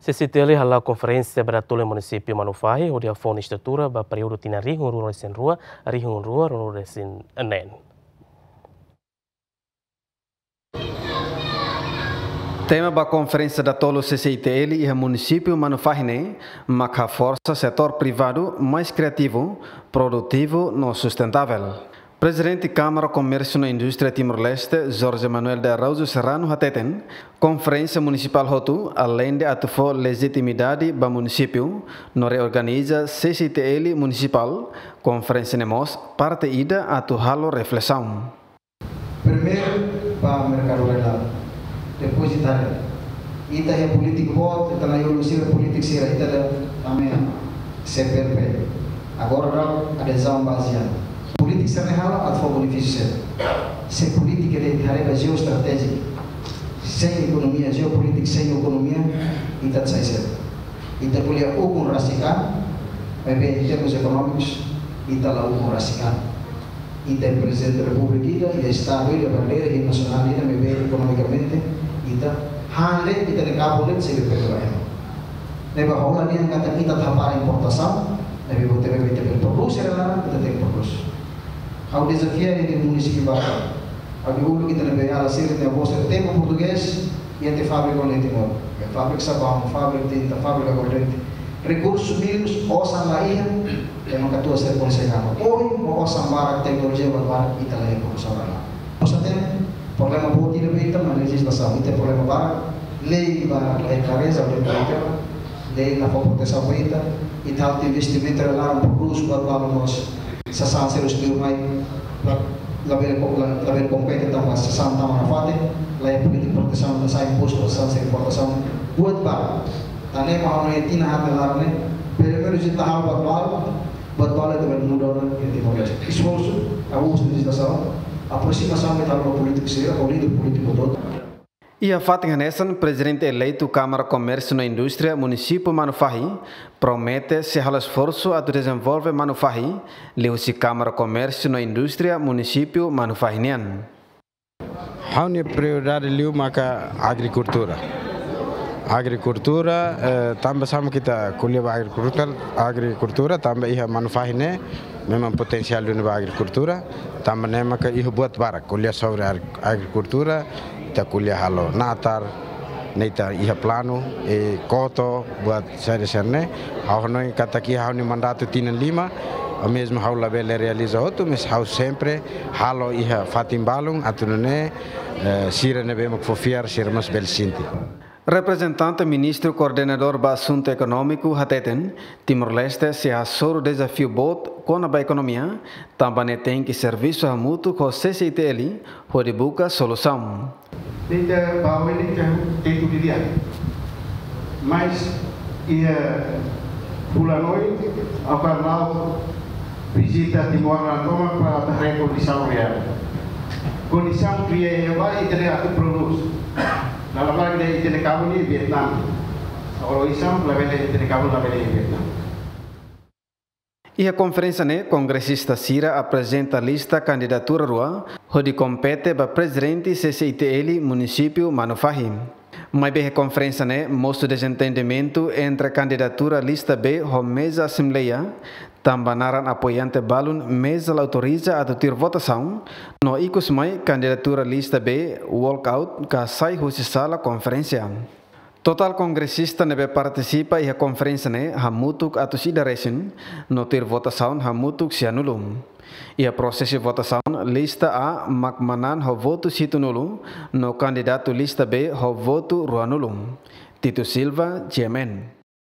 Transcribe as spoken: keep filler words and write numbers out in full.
C C I T L hala'o konferénsia ba datoluk iha munisípiu Manufahi, hodi hafoun estrutura ba períodu tinan rihun rua ruanulu-resin-rua, rihun rua ruanulu-resin-neen. Tema ba konferénsia datoluk C C I T L iha munisípiu Manufahi ne'e, mak haforsa setór privadu mais kriativu, produtivu no sustentável. Prezidente Kámara Komérsiu no Indústria Timor-Leste, Jorge Manuel de Araújo Serrano hateten, konferénsia munisipál hotu, aleinde atu fó lejitimidade ba munisípiu no reorganiza C C I T L munisipál, konferénsia ne'e mós parte ida atu halo reflesaun. Primeiru, ba merkadu rela. Depois ita haree. Ita iha polítiku boot, ita-nia iha sira polítiku sira, ita-nia ame C P L P. Agora dala adezaun bazeia. Polítiku sira ne'e halo atu fó benefísiu sira. Se polítika ita haree ba jeoestratéjia, sein ekonomia, jeopolítika sein ekonomia, ita sai sira. Ita ko'alia ukun rasik an, maibé em termos económicos, ita la ukun rasik an. Ita iha Prezidente Repúblika ida, iha Estadu ida, bandeira ida, nasionál ida, maibé ekonomikamente ita han de'it, ita-nia kabun de'it sei bele pega ba ema. Ne'ebé hola nian katak ita atu hapara importasaun, ne'ebé buat ne'ebé ita bele produs, sira laran ita tenke produs. Ha'u dezafia iha munisípiu barak. Ha'u dehan uluk ita-nia beiala sira, ita-nia avó sira tempu portugés, iha tiha fábrika iha Timor. Iha fábrika sabaun, fábrika tinta, fábrika aguardente. Rekursus mínimus, osan la iha, ema katuas sira konsege halo. Ohin, ho osan barak, teknolojia barak, ita la iha produsaun ba la. Osan tem, problema boot ida ba ita, mak lejizlasaun. Ita problema barak, lei barak la iha klareza, lei barak, lei la fó protesaun ba ita, ita halo investimentu, ita laran produs, buat balu mós sasán sira husi liur mai, la, labele ko-, la, labele kompete tanba sasán tama nafatin, la iha polítika protesaun, la sai impostu, sasán sira importasaun, buat balu. Tan ne'e mak ha'u hanoin tinan haat nia laran ne'e, pelumenus ita halo buat balu, buat balu ita bele muda ona iha Timor-Leste. Esforsu, abusu de lejislasaun, aprosimasaun ita halo ho polítiku sira, ho líder polítiku hotu. Iha fatin hanesan, Prezidente Eleitu Kámara Komérsiu no Indústria Munisípiu Manufahi promete sei halo esforsu atu dezenvolve Manufahi, liuhusi Kámara Komérsiu no Indústria Munisípiu Manufahi nian. Ha'u-nia prioridade liu maka agrikultura. Agrikultura, eh, tanba saida mak ita ko'alia ba agrikultura, agrikultura tanba iha Manufahi ne'e, memang potensiál duni ba agrikultura, tanba ne'e maka iha buat barak, ko'alia sobre agri-, agrikultura, ita ko'alia halo natar, ne'e ita iha planu, e koto, buat sériu sériu ne'e. Ha'u hanoin katak iha ha'u-nia mandatu tinan lima, o mesmu ha'u labele realiza hotu, mas ha'u sempre halo iha fatin balun, atu nune'e, eh, sira ne'ebé mak fó fiar, sira mós bele sente. Reprezentante Ministru Koordenadór ba Asuntu Ekonómiku hateten, Timor-Leste sei hasoru dezafiu boot kona-ba ekonomia, tanba ne'e tenke servisu hamutuk ho C C I T L hodi buka solusaun. Ita bawa ini ke tetu di dia. Mas iha fulan oin, ha'u-nia vizita Timor laran tomak para haree kondisaun reál. Kondisaun reál iha ne'ebá ita-nia atu produs. Lalu lagi dari ita-nia kabun iha Vietnam. Kalau isam, labele ita-nia kabun labele iha Vietnam. Iha konferénsia ne'e, kongresista sira aprezenta lista kandidatura rua, hodi kompete ba prezidente C C I T L munisípiu Manufahi. Maibé iha konferénsia ne'e, mosu dezentendimentu entre kandidatura lista B ho meza asembleia, tanba naran apoiante balun meza la autoriza atu tuir votasaun, no ikus mai kandidatura lista B walkout ka sai husi sala konferénsia. Totál kongresista ne'ebé partisipa iha konferénsia ne'e hamutuk atus ida resin, no tuir votasaun hamutuk sianulu. Iha prosesu votasaun, lista A mak manán ho votus hitunulu, no kandidatu lista B ho votu ruanulu. Tito Silva, G M N.